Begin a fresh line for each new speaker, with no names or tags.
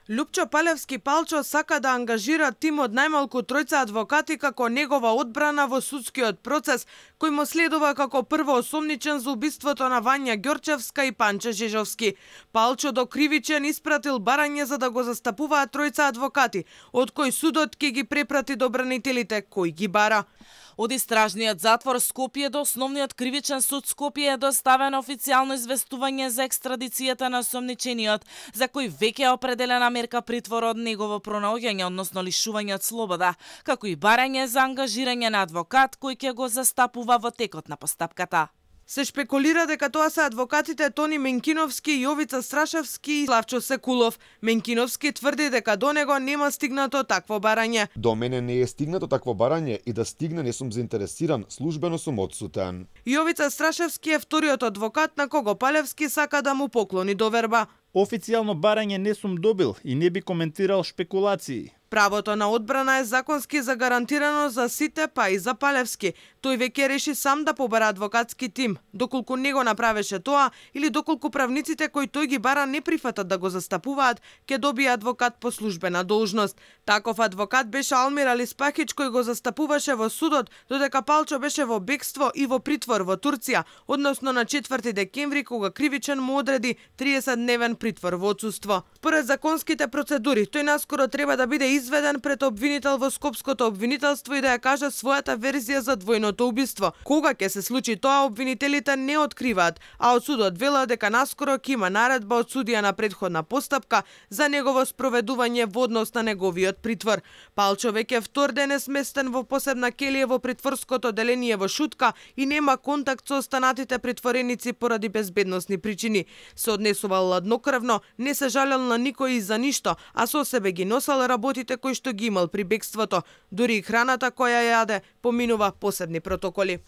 Лупчо Палевски Палчо сака да ангажира тим од најмалку тројца адвокати како негова одбрана во судскиот процес, кој му следува како прво осомничен за убиството на Вања Ѓорчевска и Панче Жежовски. Палчо до кривичен испратил барање за да го застапуваат тројца адвокати, од кој судот ќе ги препрати до бранителите кој ги бара.
Од истражниот затвор Скопје до Основниот кривичен суд Скопје е доставено официјално известување за екстрадицијата на осомничениот, за кој веќе е определена мерка притвор од негово пронаоѓање, односно лишување од слобода, како и барање за ангажирање на адвокат кој ќе го застапува во текот на постапката.
Се шпекулира дека тоа се адвокатите Тони Менкиновски, Јовица Страшевски и Славчо Секулов. Менкиновски тврди дека до него нема стигнато такво барање.
До мене не е стигнато такво барање и да стигне не сум заинтересиран, службено сум одсутен.
Јовица Страшевски е вториот адвокат на кого Палевски сака да му поклони доверба.
Официјално барање не сум добил и не би коментирал шпекулации.
Правото на одбрана е законски загарантирано за сите, па и за Палевски. Тој веќе реши сам да побара адвокатски тим. Доколку не го направеше тоа, или доколку правниците кои тој ги бара не прифатат да го застапуваат, ќе добие адвокат по службена должност. Таков адвокат беше Алмир Алиспахич кој го застапуваше во судот, додека Палчо беше во бегство и во притвор во Турција, односно на 4 декември кога кривичен му одреди 30-дневен притвор во отсуство. Според законските процедури, тој наскоро треба да биде изведен пред обвинител во Скопското обвинителство и да ја каже својата верзија за двојното убиство. Кога ќе се случи тоа, обвинителите не откриваат, а од судот велат дека наскоро ќе има наредба од судија на претходна постапка за негово спроведување во однос на неговиот притвор. Палчо веќе втор ден е сместен во посебна келија во притворското деление во Шутка и нема контакт со останатите притвореници поради безбедносни причини. Се однесувал ладнокрвно, не се жалел на никој и за ништо, а со себе ги носел работите кои што ги имал при бегството. Дури и храната која јаде поминува посебни протоколи.